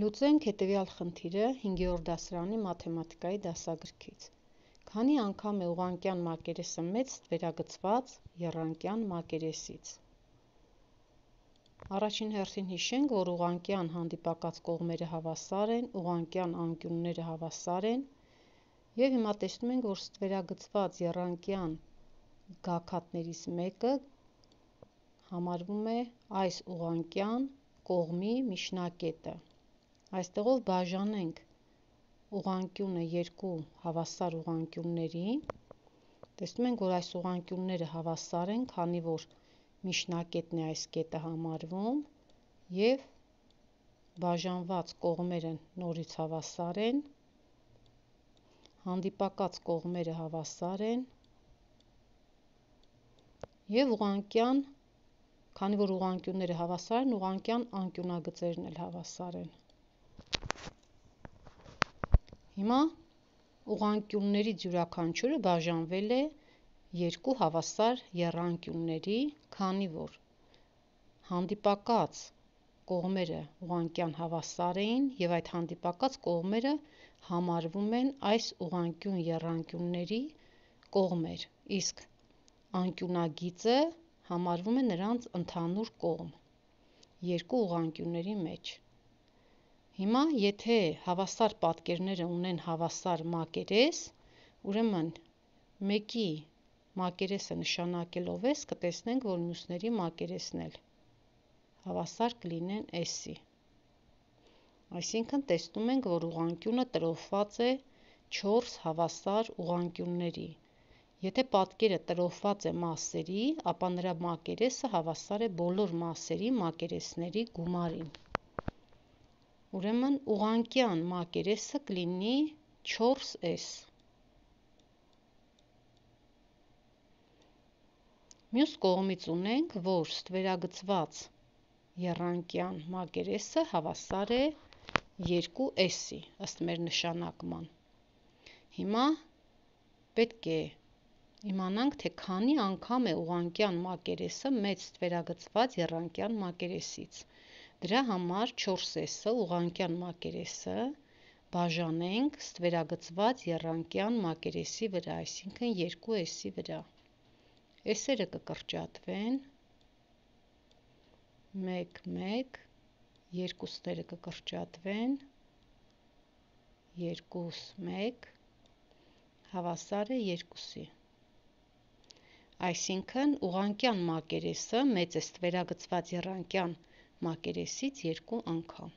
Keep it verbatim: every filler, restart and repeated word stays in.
Լուծենք հետևյալ խնդիրը հինգերորդ դասարանի մաթեմատիկայի դասագրքից։ Քանի անգամ է ուղղանկյան մակերեսը մեծ ստվերագծված եռանկյան մակերեսից։ Առաջին հերթին հիշենք, որ ուղղանկյան հանդիպակաց կողմերը հավասար են, ուղղանկյան անկյունները հավասար են, և հիմա տեսնում ենք, որ ստվերագծված եռանկյան գագաթներից մեկը համարվում է այս ուղղանկյան կողմի միջնակետը։ Այստեղով բաժանենք ուղղանկյունը երկու հավասար ուղղանկյունների, տեսնում ենք, որ այս ուղղանկյունները հավասար են, քանի որ միջնակետն է այս կետը համարվում, և բաժանված կողմերը նորից հավասար են, հանդիպակաց կողմերը հավասար են, և ուղղանկյան, քանի որ ուղղանկյունները հավասար են, ուղղանկյան անկյունագծերն էլ հավասար են։ Հիմա ուղղանկյուններից յուրաքանչյուրը բաժանվել է երկու հավասար եռանկյունների, քանի որ հանդիպակաց կողմերը ուղղանկյան հավասար էին, և այդ հանդիպակաց կողմերը համարվում են այս ուղղանկյուն եռանկյունների կողմեր, իսկ անկյունագիծը համարվում է նրանց ընդհանուր կողմ երկու ուղղանկյունների մեջ։ Հիմա, եթե հավասար պատկերները ունեն հավասար մակերես, ուրեմն մեկի մակերեսը նշանակելով S, կտեսնենք, որ մյուսների մակերեսն էլ հավասար կլինեն S-ի։ Այսինքն տեսնում ենք, որ ուղղանկյունը տրոհված է չորս հավասար ուղղանկյունների։ Եթե պատկերը տրոհված է մասերի, ապա նրա մակերեսը հավասար է բոլոր մասերի մակերեսների գումարին։ Ուրեմն ուղղանկյան մակերեսը կլինի չորս S։ Մյուս կողմից ունենք, որ ստվերագծված եռանկյան մակերեսը հավասար է երկու S-ի, ըստ մեր նշանակման։ Հիմա պետք է իմանանք, թե քանի անգամ է ուղղանկյան մակերեսը մեծ ստվերագծված եռանկյան մակերեսից։ Դրա համար չորս S-ը ուղղանկյան մակերեսը բաժանենք ստվերագծված եռանկյան մակերեսի վրա, այսինքն երկու S-ի վրա։ S-երը կկրճատվեն, մեկ, մեկ, երկուսները կկրճատվեն, երկու, մեկ, հավասար է երկուսի։ Այսինքն ուղղանկյան մակերեսը մեծ է ստվերագծված եռանկյան մակերեսից երկու անգամ։